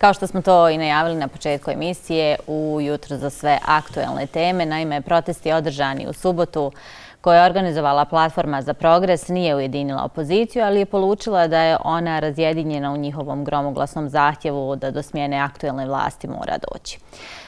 Kao što smo to i najavili na početku emisije, u Jutro za sve aktuelne teme, naime, protesti održani u subotu koje je organizovala Platforma za progres nije ujedinila opoziciju, ali je polučila da je ona razjedinjena u njihovom gromoglasnom zahtjevu da do smjene aktuelne vlasti mora doći.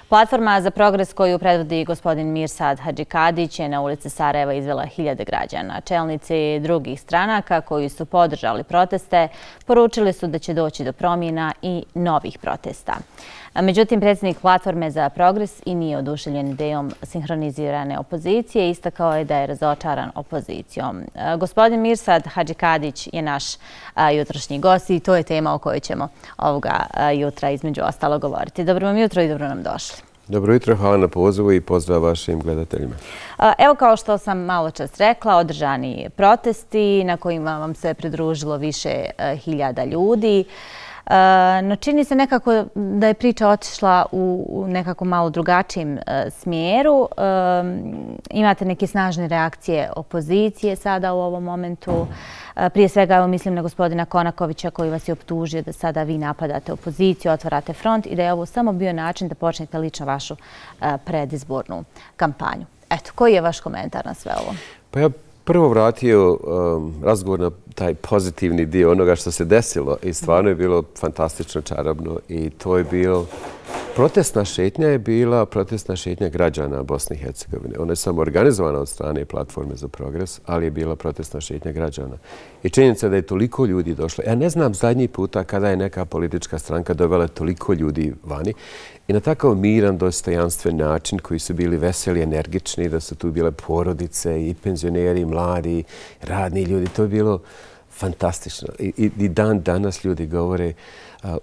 Platforma za progres koju predvodi gospodin Mirsad Hadžikadić je na ulici Sarajeva izvela hiljade građana. Čelnici drugih stranaka koji su podržali proteste poručili su da će doći do promjena i novih protesta. Međutim, predsjednik Platforme za progres i nije oduševljen idejom sinhronizirane opozicije. Istakao je da je razočaran opozicijom. Gospodin Mirsad Hadžikadić je naš jutrošnji gost i to je tema o kojoj ćemo ovoga jutra između ostalo govoriti. Dobro vam jutro i dobro nam došli. Dobro jutro, hvala na pozivu i pozdrav vašim gledateljima. Evo, kao što sam malo čas rekla, održani protesti na kojima vam se pridružilo više hiljada ljudi. No čini se nekako da je priča otišla u nekako malo drugačijem smjeru. Imate neke snažne reakcije opozicije sada u ovom momentu. Prije svega, evo, mislim na gospodina Konakovića koji vas je optužio da sada vi napadate opoziciju, otvarate front i da je ovo samo bio način da počnete lično vašu predizbornu kampanju. Eto, koji je vaš komentar na sve ovo? Pa ja prvo vratio razgovor na taj pozitivni dio onoga što se desilo i stvarno je bilo fantastično, čarobno i to je bilo... Protestna šetnja je bila protestna šetnja građana Bosne i Hercegovine. Ona je samo organizovana od strane Platforme za progres, ali je bila protestna šetnja građana. I činjenica da je toliko ljudi došlo. Ja ne znam zadnji puta kada je neka politička stranka dovela toliko ljudi vani i na takav miran, dostojanstven način koji su bili veseli, energični, da su tu bile porodice i penzioneri, i mladi, radni ljudi. To je bilo fantastično. I dan danas ljudi govore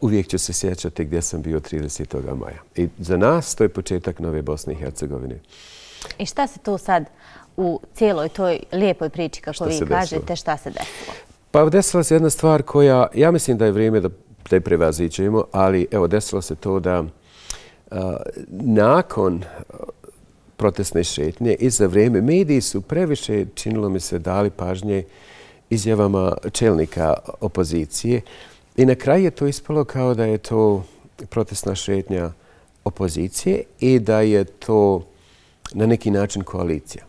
uvijek ću se sjećati gdje sam bio 30. maja. I za nas to je početak nove Bosne i Hercegovine. I šta se tu sad u cijeloj toj lijepoj priči, kako vi kažete, šta se desilo? Pa desila se jedna stvar koja, ja mislim da je vrijeme da je prevaziđemo, ali evo desilo se to da nakon protestne šetnje i za vrijeme mediji su previše, činilo mi se, dali pažnje izjavama čelnika opozicije. I na kraju je to ispalo kao da je to protestna šetnja opozicije i da je to na neki način koalicija.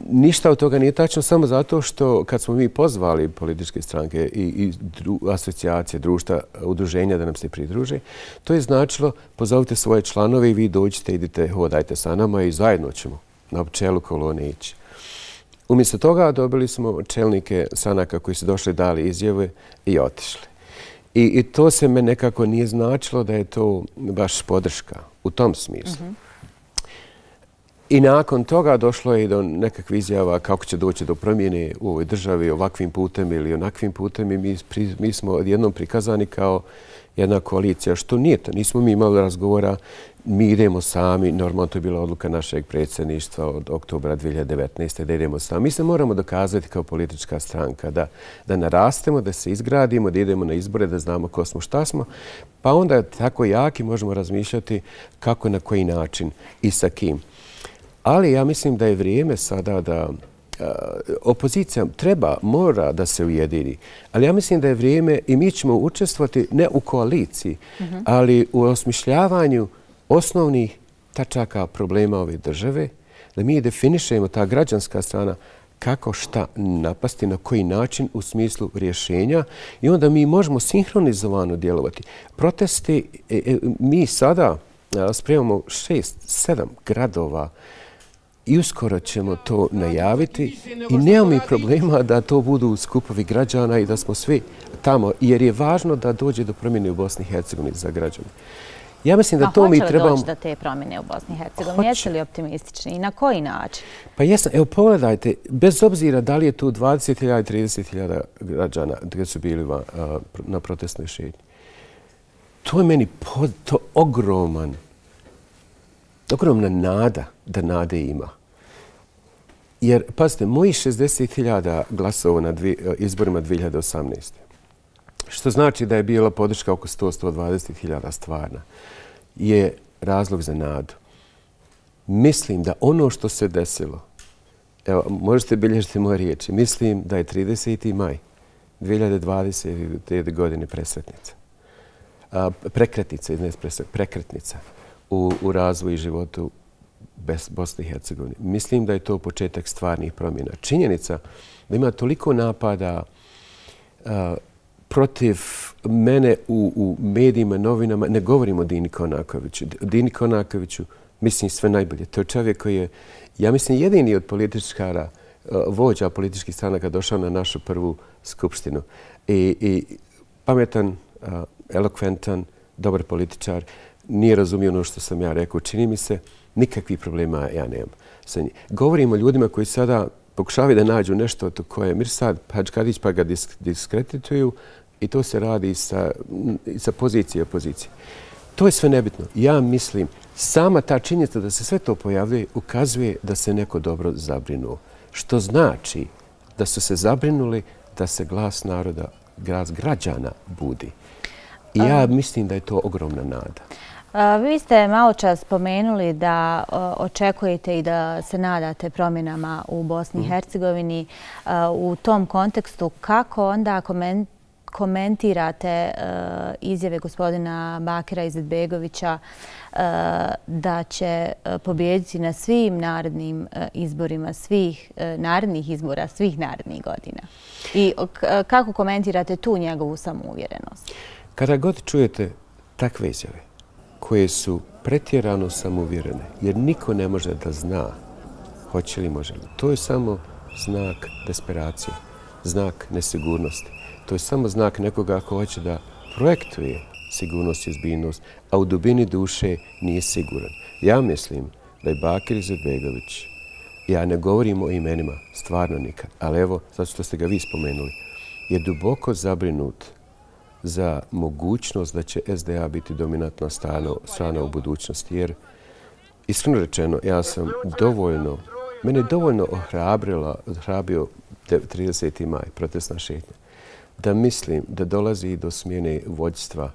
Ništa od toga nije tačno, samo zato što kad smo mi pozvali političke stranke i asocijacije, društva, udruženja da nam se pridruže, to je značilo pozovite svoje članove i vi dođite, idite, hodajte sa nama i zajedno ćemo na čelu kolone ići. Umjesto toga dobili smo čelnike stranaka koji su došli, dali izjave i otišli. I to se me nekako nije značilo da je to baš podrška u tom smislu. I nakon toga došlo je i do nekakvih izjava kako će doći do promjene u ovoj državi ovakvim putem ili onakvim putem i mi smo odjednom prikazani kao jedna koalicija, što nije to. Nismo mi imali razgovora, mi idemo sami, normalno to je bila odluka našeg predsjedništva od oktobra 2019. da idemo sami. Mi se moramo dokazati kao politička stranka, da narastemo, da se izgradimo, da idemo na izbore, da znamo ko smo, šta smo, pa onda tako jaki možemo razmišljati kako, na koji način i sa kim. Ali ja mislim da je vrijeme sada da opozicija mora da se ujedini. Ali ja mislim da je vrijeme i mi ćemo učestvovati ne u koaliciji, ali u osmišljavanju osnovnih tačaka problema ove države, da mi definišemo ta građanska strana kako šta napasti, na koji način u smislu rješenja i onda mi možemo sinhronizovano djelovati. Protesti, mi sada spremamo 6-7 gradova i uskoro ćemo to najaviti i nema mi problema da to budu skupovi građana i da smo svi tamo, jer je važno da dođe do promjene u Bosni i Hercegovini za građane. Ja mislim da to mi trebamo... Hoće li doći do te promjene u Bosni i Hercegovini? Jeste li optimistični i na koji način? Pa jesam. Evo pogledajte, bez obzira da li je tu 20.000 i 30.000 građana koji su bili na protestnoj šetnji. To je meni ogromna nada da nade ima. Jer, pazite, moji 60.000 glasova na izborima 2018. Što znači da je bila podrška oko 100-120.000 stvarna, je razlog za nadu. Mislim da ono što se desilo, evo, možete bilježiti moje riječi, mislim da je 30. maj 2020. godine presretnica. prekretnica u razvoju i životu Bosne i Hercegovine. Mislim da je to početak stvarnih promjena. Činjenica da ima toliko napada protiv mene u medijima, novinama, ne govorimo o Dini Konakoviću. Dini Konakoviću mislim sve najbolje. To je čovjek koji je, ja mislim, jedini od političkara, vođa političkih stranaka došao na našu prvu skupštinu. I pametan, elokventan, dobar političar, nije razumio ono što sam ja rekao. Čini mi se, nikakvih problema ja nemam sa njim. Govorimo o ljudima koji sada pokušavaju da nađu nešto to koje Mirsad Hadžkadić pa ga diskredituju i to se radi sa pozicije i opozicije. To je sve nebitno. Ja mislim, sama ta činjenica da se sve to pojavljuje ukazuje da se neko dobro zabrinuo. Što znači da su se zabrinuli da se glas naroda, glas građana budi. I ja mislim da je to ogromna nada. Vi ste malo čas spomenuli da očekujete i da se nadate promjenama u Bosni i Hercegovini. U tom kontekstu kako onda komentirate izjave gospodina Bakira Izetbegovića da će pobijediti na svim narednim izborima, svih narednih izbora, svih narednih godina? I kako komentirate tu njegovu samouvjerenost? Kada god čujete takve izjave koje su pretjerano samouvjerene, jer niko ne može da zna hoće li, može li. To je samo znak desperacije, znak nesigurnosti. To je samo znak nekoga ko hoće da projektuje sigurnost i ozbiljnost, a u dubini duše nije siguran. Ja mislim da je Bakir Izetbegović, ja ne govorim o imenima, stvarno nikad, ali evo, zato što ste ga vi spomenuli, je duboko zabrinut za mogućnost da će SDA biti dominantna strana u budućnosti. Jer, iskreno rečeno, ja sam mene je dovoljno ohrabrio 30. maj, protestna šetnja, da mislim da dolazi do smjene vođstva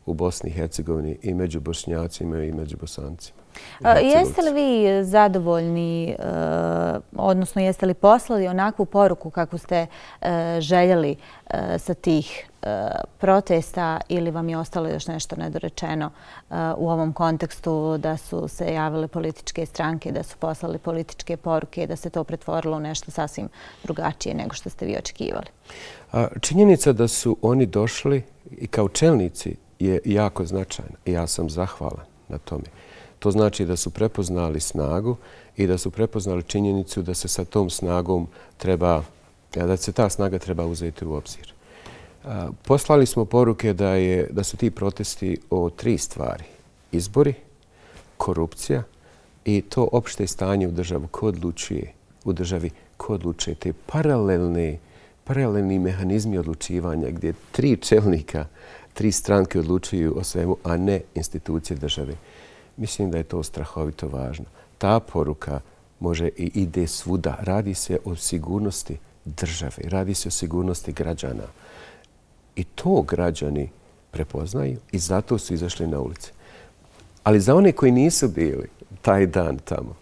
u Bosni i Hercegovini i među Bošnjacima i među Bosancima. Jeste li vi zadovoljni, odnosno jeste li poslali onakvu poruku kako ste željeli sa tih protesta ili vam je ostalo još nešto nedorečeno u ovom kontekstu da su se javile političke stranke, da su poslali političke poruke, da se to pretvorilo u nešto sasvim drugačije nego što ste vi očekivali? Činjenica da su oni došli i kao čelnici je jako značajna i ja sam zahvalan na tome. To znači da su prepoznali snagu i da su prepoznali činjenicu da se sa tom snagom da se ta snaga treba uzeti u obzir. Poslali smo poruke da su ti protesti o 3 stvari. Izbori, korupcija i to opšte stanje u državi ko odlučuje, u državi ko odlučuje. Te paralelni mehanizmi odlučivanja gdje 3 čelnika, 3 stranke odlučuju o svemu, a ne institucije države. Mislim da je to strahovito važno. Ta poruka može i ide svuda. Radi se o sigurnosti države, radi se o sigurnosti građana. I to građani prepoznaju i zato su izašli na ulice. Ali za one koji nisu bili taj dan tamo,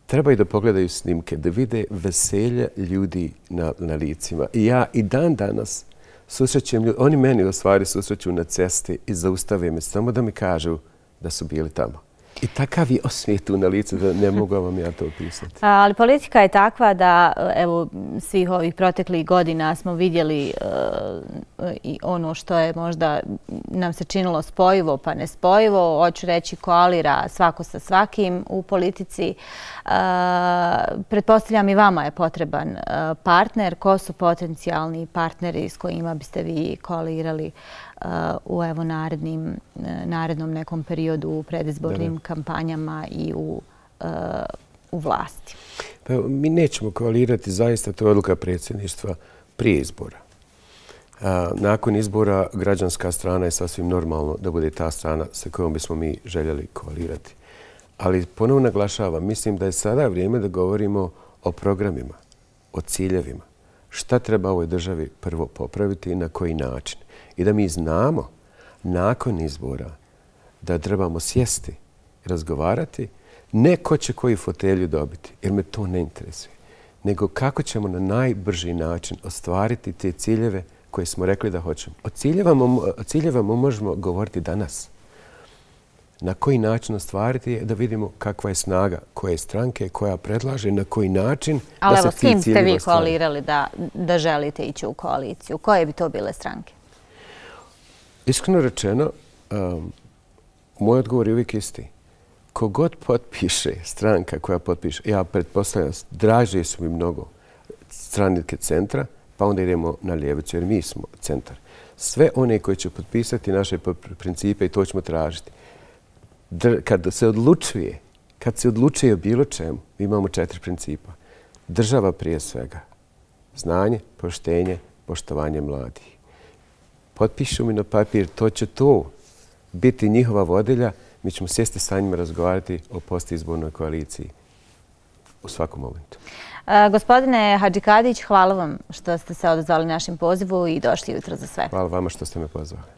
trebaju da pogledaju snimke, da vide veselje ljudi na licima. I ja i dan danas susrećem ljudi, oni meni u stvari susreću na cesti i zaustave me samo da mi kažu da su bili tamo. I takav je osmijeh tu na licu da ne mogu vam ja to opisati. Ali politika je takva da evo svih ovih proteklih godina smo vidjeli i ono što je možda nam se činilo spojivo pa nespojivo. Hoću reći koalira svako sa svakim u politici. Pretpostavljam i vama je potreban partner. Ko su potencijalni partneri s kojima biste vi koalirali u narednom nekom periodu u predizbornim kampanjama i u vlasti? Pa, mi nećemo koalirati, zaista to je odluka predsjedništva prije izbora. Nakon izbora građanska strana je sasvim normalno da bude ta strana sa kojom bismo mi željeli koalirati. Ali ponovno naglašavam, mislim da je sada vrijeme da govorimo o programima, o ciljevima. Šta treba ovoj državi prvo popraviti i na koji način. I da mi znamo nakon izbora da trebamo sjesti i razgovarati ne ko će koju fotelju dobiti, jer me to ne interesuje, nego kako ćemo na najbrži način ostvariti te ciljeve koje smo rekli da hoćemo. O ciljevama možemo govoriti danas. Na koji način ostvariti je da vidimo kakva je snaga koje stranke, koja predlaže, na koji način ali da se evo, s kim ste vi ostvari. koalirali da želite ići u koaliciju? Koje bi to bile stranke? Iskreno rečeno, moj odgovor je uvijek isti. Kogod potpiše, stranka koja potpiše, ja pretpostavljam, draže su mi mnogo stranke centra, pa onda idemo na ljevicu, jer mi smo centar. Sve one koji će potpisati naše principe i to ćemo tražiti. Kad se odlučuje o bilo čemu, imamo 4 principa. Država prije svega. Znanje, poštenje, poštovanje mladih. Potpišu mi na papir, to će to biti njihova vodilja. Mi ćemo sjesti sa njima razgovarati o postizbornoj koaliciji u svakom momentu. Gospodine Hadžikadić, hvala vam što ste se odazvali našem pozivu i došli jutro za sve. Hvala vama što ste me pozvali.